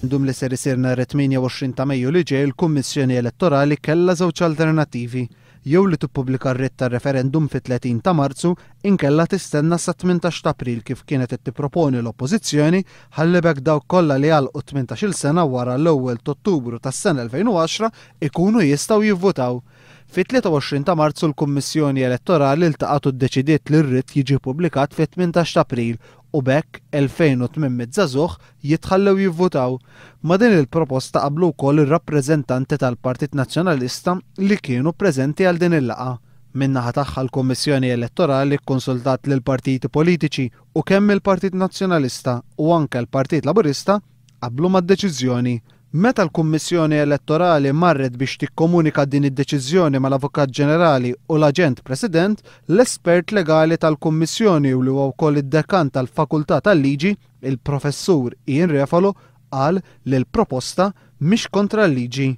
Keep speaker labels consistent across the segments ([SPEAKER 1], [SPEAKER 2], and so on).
[SPEAKER 1] Għar-referendum li ser isir nhar it-28 ta' Mejju li ġej il-Kummissjoni Elettorali kellha żewġ alternattivi, jew li tippubblika r-writ tar-referendum fit-30 ta' Marzu inkella tistenna sat-18 ta' April kif kienet qed tipproponi l-Oppożizzjoni ħalli b'hekk dawk kollha li għalqu t-tmintax-il sena wara l-ewwel t'Ottubru tas-sena 2010 ikunu jistgħu jivvutaw. Fit-23 ta' Marzu l-Kummissjoni Elettorali ltaqgħet u ddeċidiet li r-writ jiġi ppubblikat fit-18 ta' April u b'hekk 2,800 żagħżugħ jitħallew jivvutaw. Ma' din il-proposta qablu wkoll ir-rappreżentanti tal-Partit Nazzjonalista li kienu preżenti għal din il-laqgħa. Min-naħa tagħha l-Kummissjoni Elettorali kkonsultat lill-partiti politiċi u kemm il-Partit Nazzjonalista u anke l-Partit Laburista qablu mad-deċiżjoni. Meta l-Kummissjoni Elettorali marret biex tikkomunika din id-deċiżjoni mal-Avukat Ġenerali u l-Aġent President, l-espert legali tal-Kummissjoni u li huwa wkoll id-Dekan tal-Fakultà tal-Liġi, il-Professur Ian Refalo, qal li l-proposta mhix kontra l-liġi.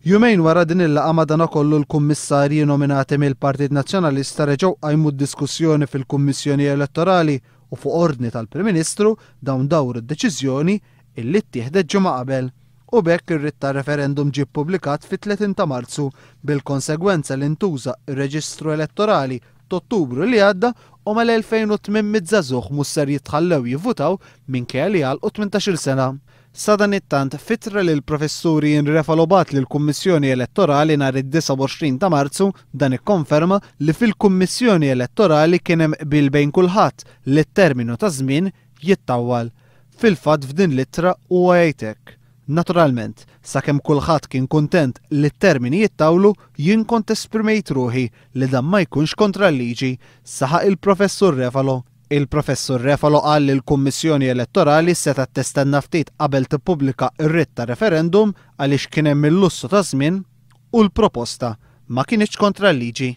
[SPEAKER 1] Jumejn wara din il-laqgħa madanakollu l-Kummissarji nominati mill-Partit Nazzjonalista reġgħu qajmu d-diskussjoni fil-Kummissjoni Elettorali u fuq ordni tal-Prim Ministru dawn dawru d-deċiżjoni illi ttieħdet ġimgħa qabel. U b'hekk ir-writ tar-referendum ġie ppubblikat fit-30 ta' Marzu bil-konsegwenza li ntuża r-reġistru elettorali t'Ottubru li għadda u mal-2,800 żagħżugħ mhux ser jitħallew jivvutaw minkejja li għalqu tmintax-il sena. Sadanittant, f'ittra li l-Professur Ian Refalo bagħat lill-Kummissjoni Elettorali nhar id-29 ta' Marzu, dan ikkonferma li fil-Kummissjoni Elettorali kien hemm qbil bejn kulħadd li t-terminu ta' żmien jittawwal. Fil-fatt f'din l-ittra huwa jgħid hekk, Naturalment, sakemm kulħadd kien kuntent li t-termini jittawlu, jien kont esprimejt ruħi li dan ma jkunx kontra l-liġi, saħaq il-Professur Refalo. Il-Professur Refalo qal li l-Kummissjoni Elettorali setgħet tistenna ftit qabel tippubblika r-writ ta' referendum għaliex kien hemm il-lussu ta' żmien u l-proposta ma kinitx kontra l-liġi.